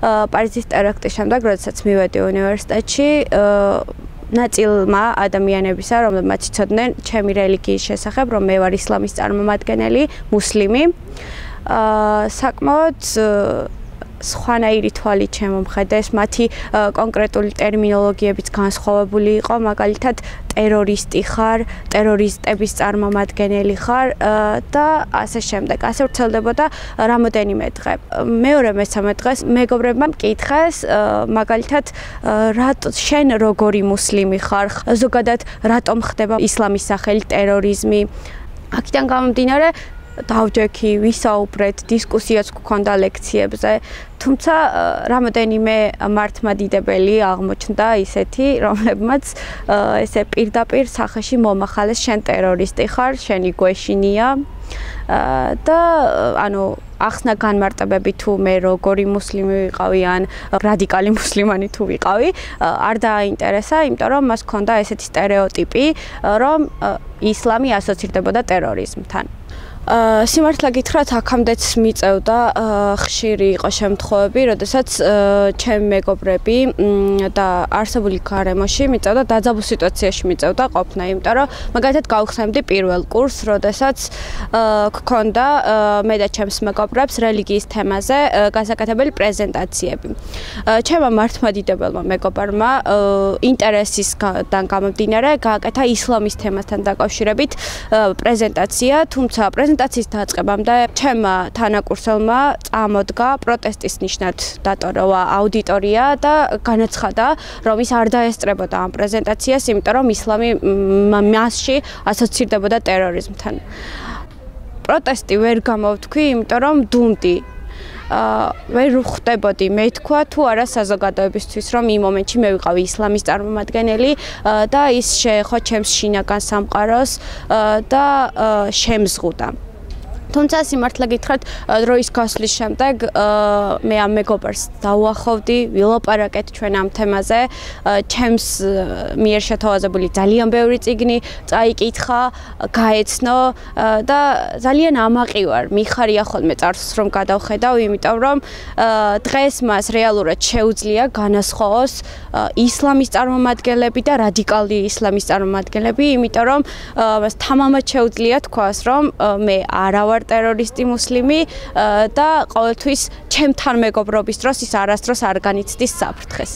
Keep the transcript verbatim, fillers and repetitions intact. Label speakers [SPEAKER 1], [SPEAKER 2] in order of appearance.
[SPEAKER 1] პარიზის ტერაქტის შემდეგ, როდესაც მივედი უნივერსიტეტში, ნაწილმა ადამიანებისა, რომლებმაც იცოდნენ ჩემი რელიგიის შესახებ, რომ მე ვარ ისლამის წარმომადგენელი, მუსლიმი, საკმაოდ სხვანაირი თვალით შემომხედეს, მათი კონკრეტული ტერმინოლოგიებიც განსხვავებული იყო, მაგალითად ტერორისტი ხარ, ტერორისტების წარმომადგენელი ხარ და ასე შემდეგ. ასე ვრცელდებოდა რამოდენიმე დღე. მეორე მესამე დღეს მეგობრებმა მკითხეს, მაგალითად, შენ როგორი მუსლიმი ხარ, ზოგადად რატომ ხდება ისლამის სახელით ტერორიზმი. აქედან გამომდინარე დავჯექი, ვისაუბრეთ, დისკუსიაც გქონდა ლექციებზე, თუმცა რამოდენიმე მართლმადიდებელი აღმოჩნდა ისეთი, რომლებმაც ესე პირდაპირ სახეში მომახალეს, შენ ტერორისტი ხარ, შენი გვეშინია და ანუ ახსნა განმარტებები თუ მე როგორი მუსლიმი ვიყავი ან რადიკალი მუსლიმანი თუ ვიყავი, არ დააინტერესა, იმიტომ რომ მას ჰქონდა ესეთი სტერეოტიპი, რომ ისლამი ასოცირდებოდა ტერორიზმთან. სიმართლე გითხრათ, აქამდეც მიწევდა ხშირი იყო შემთხვევები, როდესაც ჩემი მეგობრები და არსებული გარემოში მიწევდა დაძაბულ სიტუაციაში მიწევდა ყოფნა, იმიტომ რომ მაგალითად გავხსენებდი პირველ კურსს, როდესაც გქონდა მე და ჩემს მეგობრებს რელიგიის თემაზე გასაკეთებელი პრეზენტაციები. ჩემმა მართლმადიდებელმა მეგობრებმა ინტერესისგან გამომდინარე გააკეთა ისლამის თემასთან დაკავშირებით პრეზენტაცია, თუმცა პრეზენტაციის დაწყებამდე ჩემმა თანაკურსელმა წამოდგა პროტესტის ნიშნად დატოვა აუდიტორია და განაცხადა, რომ ის არ დაესწრებოდა ამ პრეზენტაციას, იმიტომ რომ ისლამი მასში ასოცირდებოდა ტერორიზმთან. პროტესტი ვერ გამოვთქვი, იმიტომ რომ დუმდი. ვერ ვხვდებოდი მე თქვა თუ არა საზოგადოებისთვის, რომ იმ მომენტში მე ვიყავი ისლამის წარმომადგენელი და ის შეეხო ჩემს შინაგან სამყაროს და შემზღუდა. თუმცა სიმართლე გითხრათ, დროის გასვლის შემდეგ მე ამ მეგობრს დავუახლოვდი, ვილაპარაკეთ ჩვენ ამ თემაზე, ჩემს მიერ შეთავაზებული ძალიან ბევრი წიგნი წაიკითხა, გაეცნო და ძალიან ამაყი ვარ, მიხარია ხოლმე წარსულს რომ გადავხედავ, იმიტომ რომ დღეს მას რეალურად შეუძლია განასხვაოს ისლამის წარმომადგენლები და რადიკალური ისლამის წარმომადგენლები, იმიტომ რომ მას თამამად შეუძლია თქვას, რომ მე არა ვარ ტერორისტი მუსლიმი და ყოველთვის ჩემთან მეგობრობის დროს ის არასდროს არ განიცდის საფრთხეს.